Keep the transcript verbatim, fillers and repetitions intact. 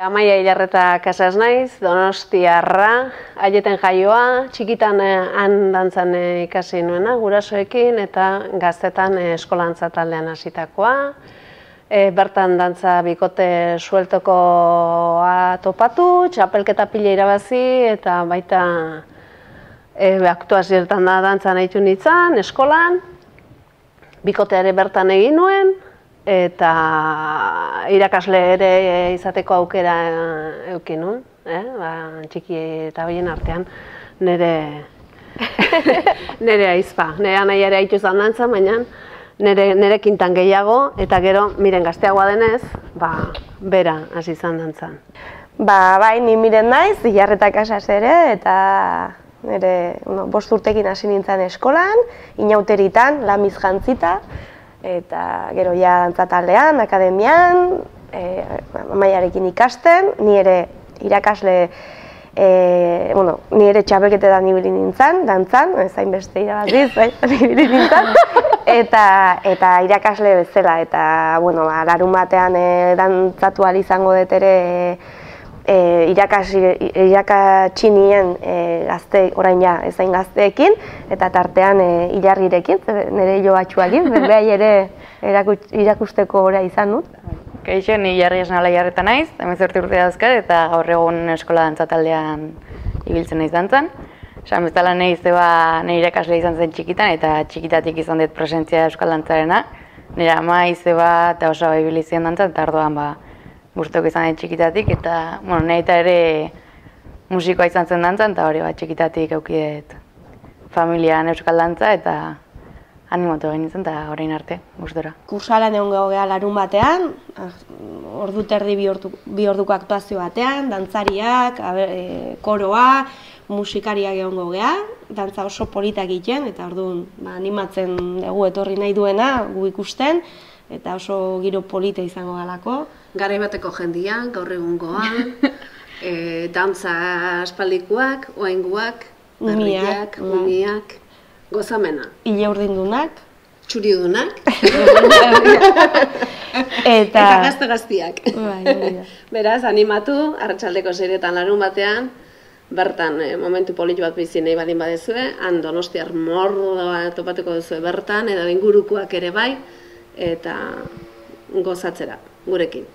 Amaia Ilarreta Casas naiz, Donostiarra, Aieten jaioa, txikitan han dantzan ikasi nuena, gurasoekin, eta gaztetan eskolantza taldean hasitakoa. Bertan dantza bikote sueltokoa topatu, txapelketa pila irabazi, eta baita aktuazioetan da dantzan nahitu nintzen, eskolan, bikoteare bertan egin nuen, eta irakasle ere izateko aukera eduki nuen, txiki eta horien artean nire nire aizpa. Nire anaia ere haitu izan dantzan, baina nire kintan gehiago, eta gero, miren gazteagoa denez, bera hasi izan dantzan. Ba, bai, ni miren naiz, Ilarreta Casas ere, eta nire bost urtekin hasi nintzen eskolan, inauteritan, lamiz jantzita, eta gero ja dantzataldean, akademian, Amaiarekin ikasten, ni ere irakasle, bueno, ni ere txapelketetan ibili nintzen, dantzan, zain beste irabaziz, ibili nintzen, eta irakasle bezala, eta, bueno, larun batean dantzatu ahal izango dut ere irakatsi nien gazte, orain ja, ezain gazteekin, eta tartean Ilarrirekin, nire joatxuakin, berbehai ere irakusteko ora izan dut. Kaixo, ni Ilarri esnala Ilarreta naiz, hemezortzi urte dauzkat, eta gaur egun eskola dantzataldean ibiltzen naiz dantzan. Esan bezala nahi zeba nire irakasle izan zen txikitan, eta txikitatik izan dut presentzia euskal dantzarena. Nire ama izeba eta oso ibili ziren dantzan, eta ardoan ba, guztok izan dut txikitatik, eta bueno, nahi eta ere musikoa izan zen dantzan, eta hori bat txikitatik aukidet familian euskal dantza, eta animatu egin nintzen, eta orain arte, gustora. Kursalan egon geha larun batean, ordu terdi bi orduko aktuazio batean, dantzariak, koroa, musikariak egon geha, dantza oso politak egiten, eta orduan animatzen dugu etorri nahi duena, gu ikusten, eta oso giro polita izango galako. Garai bateko jendia, gaur egungoa, dantza aspaldikoak, oaingoak, berriak, umiak, gozamena. Ile urdindunak. Txuriudunak. Eta gazte-gaztiak. Beraz, animatu, arratsaldeko seietan larun batean, bertan momentu politu bat bizi nahi badin badezue, han Donostiar mordoa topatuko duzue bertan, edo ingurukoak ere bai, eta gozatzera, gurekin.